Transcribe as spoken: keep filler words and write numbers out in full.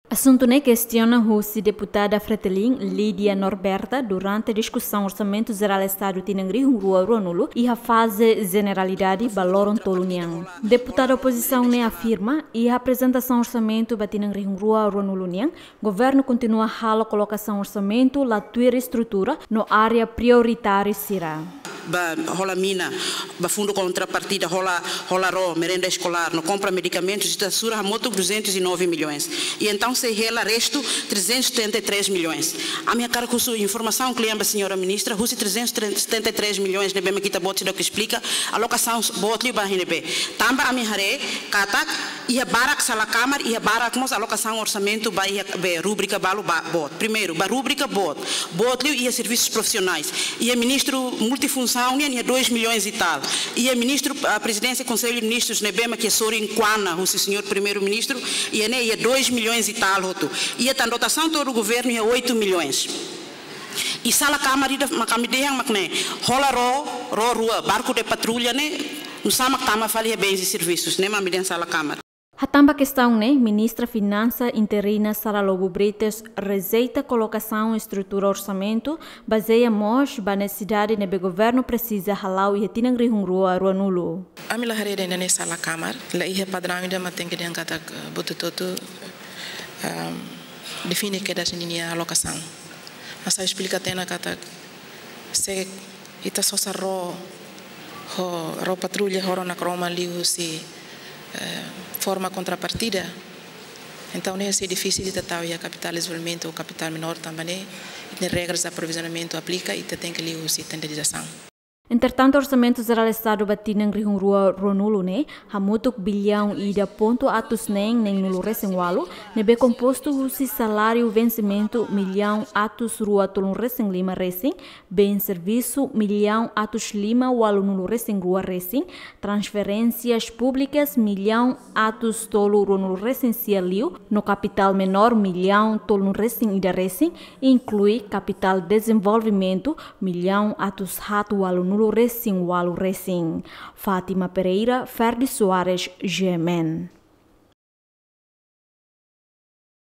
Asuntu ne'e kestiona husi deputada Fretilin, Lídia Norberta, durante diskusaun Orsamentu Jerál Estadu tinan rihun rua ruanulu iha faze jeneralidade ba loron tolu nian. Deputada opozisaun ne'e afirma, iha aprezentasaun orsamentu ba tinan rihun rua ruanulu nian, governu kontinua halo kolokasaun orsamentu la tuir estrutura no área prioritáriu sira. Ba hola mina, ba fundu kontrapartida, hola, hola ró, merenda eskolár, no kompra medikamentus, ita sura hamutuk duzentos e nove milhões. I entaun sei hela restu trezentos e setenta e três milhões. Ami hakarak husu informasaun kle'an ba señora ministra, husi trezentos e setenta e três milhões ne'ebé mak ita-boot seidauk esplika, alokasaun boot liu ba iha ne'ebé. Tanba ami haree katak iha barak sala kamar, iha barak mós alokasaun orsamentu ba iha be rúbrika balu ba boot. Primeiru, ba rúbrika boot. Boot liu iha servisus profisionais. Iha ministru multifunsaun nian iha dois milhões e tal. Iha ministru, ah, prezidénsia Konsellu Ministrus ne'ebé mak iha sorin kuana husi señór Primeiru-Ministru, iha ne'e iha dois milhões e tal hotu. Iha tan dotasaun todo governu iha oito milhões. I sala kamar ida mak ami dehan mak ne'e, hola ró, ró rua, barku de patrulla ne'e, nusá mak tama fali iha bens e servisus, ne'e mak ami dehan sala kamar. Hatán ba kestaun ne'e, Ministra Finansa interina Sara Lobo Bretas rejeita kolokasaun estrutura orsamentu, bazeia mós ba nesesidade ne'ebé governu presiza hala'o iha tinan rihun rua ruanulu. Ami la haree dehan ne'e sala kamar, la iha padraun ida mak tenke dehan katak, eh, buat hotu-hotu, ehm, define kedas ninia alokasaun. Asa esplika tiha ona katak, se ita sosa ró, ho, ró patrulla, ho ró nakroman liuhusi, eh, forma kontrapartida. Entaun, ne'e sei difisil ita tau iha kapitál dezenvolvimentu ou kapitál menór, tanba ne'e, ita-nia regras de aprovizionamentu aplika, ita tenke liuhusi tenderizasaun. Entretantu, Orsamentu Jerál Estadu ba tinan rihun rua ruanulu ne'e, hamutuk biliaun ida pontu atus neen neen-nulu resin ualu, ne'ebé kompostu husi saláriu vensimentu millaun atus rua tolunulu resin lima resin, bens servisu millaun atus lima ualunulu resin rua resin, transferénsias públikas millaun atus tolu ruanulu resin sia liu, no kapitál menór millaun tolunulu resin ida resin, inklui kapitál dezenvolvimentu millaun atus haat ualunulu resin ualu resin. Fátima Pereira, Ferdi Soares, G M N.